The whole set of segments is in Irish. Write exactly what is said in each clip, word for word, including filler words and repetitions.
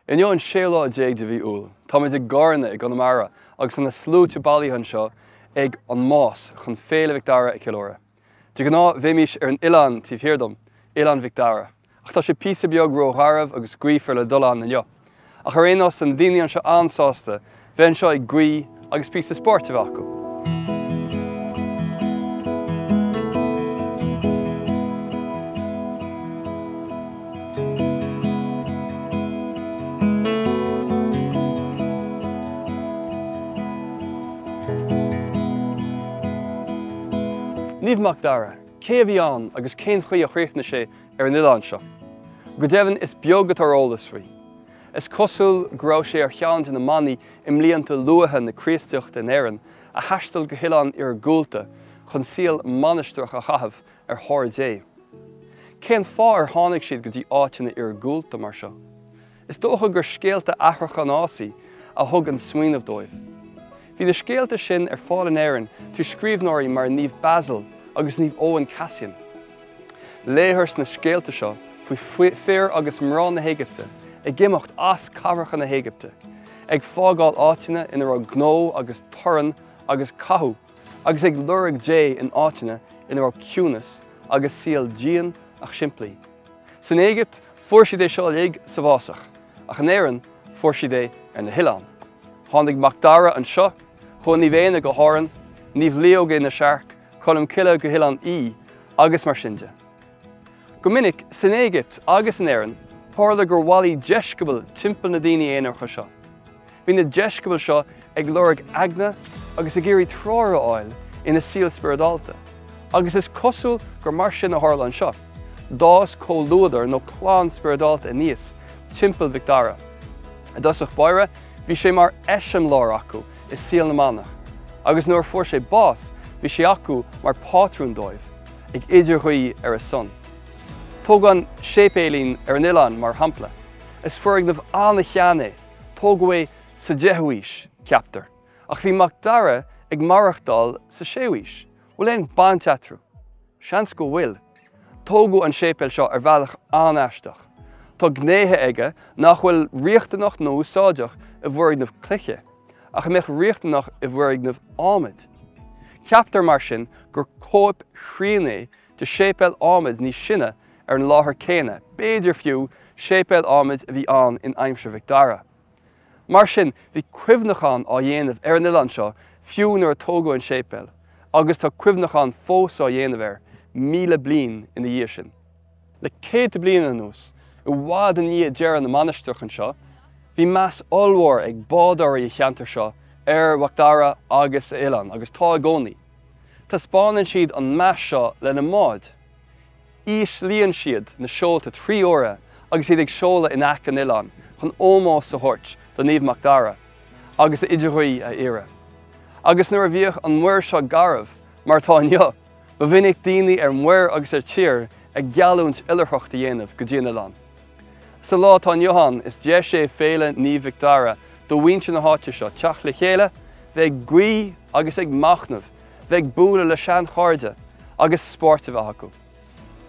Inniu an séú lá déag de mhí Iúil, Táimid i gCarna i gConamara agus tá na sluaite bailithe anseo ag an Más chun Féile Mhic Dara a cheiliúradh. De ghnáth bheimis ar an oileán taobh thiar dom, Oileán Mhic Dara, ach tá sé píosa beag rógharbh agus gaofar le dul ann inniu. Ach ar aon nós tá na daoine anseo an-sásta bheith anseo ag guí agus píosa spóirt a bheith acu. Naomh Mac Dara, cé a bhí ann agus cén chaoi a chríochnaigh sé ar an oileán seo. Go deimhin is beag atá ar eolas faoi. Is cosúil go raibh sé ar cheann de na manaigh i mblianta luatha na Críostaíochta in Éirinn a thaistil go hoileán iargúlta chun saol mainistreach a chaitheamh ar thóir Dé. Cén fáth ar tháinig siad go dtí áiteanna iargúlta mar seo? Is dócha gur scéalta aithreacha an fhásaigh a thug an smaoineamh dóibh. Bhí na scéalta sin ar fáil in Éirinn trí scríbhneoirí mar Naomh Basil agus Naomh Eoin Cassian. Léithear sna scéalta seo faoi fir agus mná na hÉigipte ag imeacht as cathracha na hÉigipte, ag fágáil áiteanna ina raibh gnó agus torann agus cathú, agus ag lorg Dé in áiteanna ina raibh ciúnas agus saol dian ach simplí. San Éigipt fuair siad é seo uilig sa bhfásach, ach in Éirinn fuair siad é ar na hoileáin. Tháinig Mac Dara anseo, chuaigh Naomh Éanna go hÁrainn, Naomh Leo go Inis Airc, Colm Cille go hOileán Í agus mar sin de. Go minic san Éigipt agus in Éirinn, tharla gur bhailigh deisceabail timpeall na daoine aonaracha seo. Bhí na deisceabail seo ag lorg eagna agus ag iarraidh treoir a fháil ina saol spioradálta, agus is cosúil gur mar sin a tharla anseo. D'fhás comhluadar nó clann spioradálta aníos timpeall Mhic Dara. I dtosach báire, bhí sé mar eiseamláir acu i saol na manach, agus nuair a fuair sé bás, bhí sé acu mar phátrún dóibh, ag idirghuí ar a son. Tóg an séipéilín ar an oileán mar shampla. Is foirgneamh an-shean é, tógadh é sa deichiú haois, ceaptar. Ach bhí Mac Dara ag maireachtáil sa séú haois. Bhfuil aon baint eatarthu? Seans go bhfuil. Tógadh an séipéal seo ar bhealach an-aisteach. Tá gnéithe aige nach bhfuil riachtanach nó úsáideach i bhfoirgneamh cloiche, ach a mbeadh riachtanach i bhfoirgneamh adhmaid. Ceaptar mar sin gur cóip chruinn é de séipéal adhmaid níos sine ar an láthair céanna, b'fhéidir fiú séipéal adhmaid a bhí ann in aimsir Mhic Dara. Mar sin, bhí cuimhneachán á dhéanamh ar an oileán seo fiú nuair a tógadh an séipéal, agus tá cuimhneachán fós á dhéanamh air míle bliain ina dhiaidh sin. Le céadta bliain anuas, i bhfad i ndiaidh deireadh na mainistreach anseo, bhí meas ollmhór ag bádóirí an cheantair seo ar Mhac Dara agus a oileán, agus tá i gcónaí. Taispeánann siad an meas seo lena mbáid. Íslíonn siad na seolta trí huaire agus iad ag seoladh in aice an oileáin chun ómós a thabhairt do Naomh Mac Dara agus a idirghuí a iarraidh. Agus nuair a bhíodh an muir seo garbh, mar atá inniu, ba mhinic daoine ar muir agus ar tír ag geallúint oilithreacht a dhéanamh go dtí an oileán. Sa lá atá inniu ann, is deis é Féile Naomh Mhic Dara do mhuintir na háite seo teacht le chéile, bheith ag guí agus ag machnamh, bheith ag bualadh le seanchairde agus spórt a bheith acu.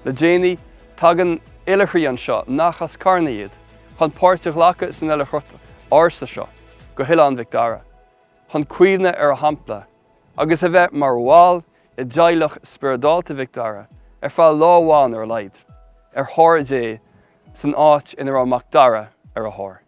Le déanaí, tagann oilithrigh anseo nach as Carna iad, chun páirt a ghlacadh san oilithreacht ársa seo go hOileán Mhic Dara, chun cuimhneamh ar a shampla agus a bheith mar bhall i dteaghlach spioradálta Mhic Dara ar feadh lá amháin ar a laghad, ar thóir Dé san áit ina raibh Mac Dara ar a thóir.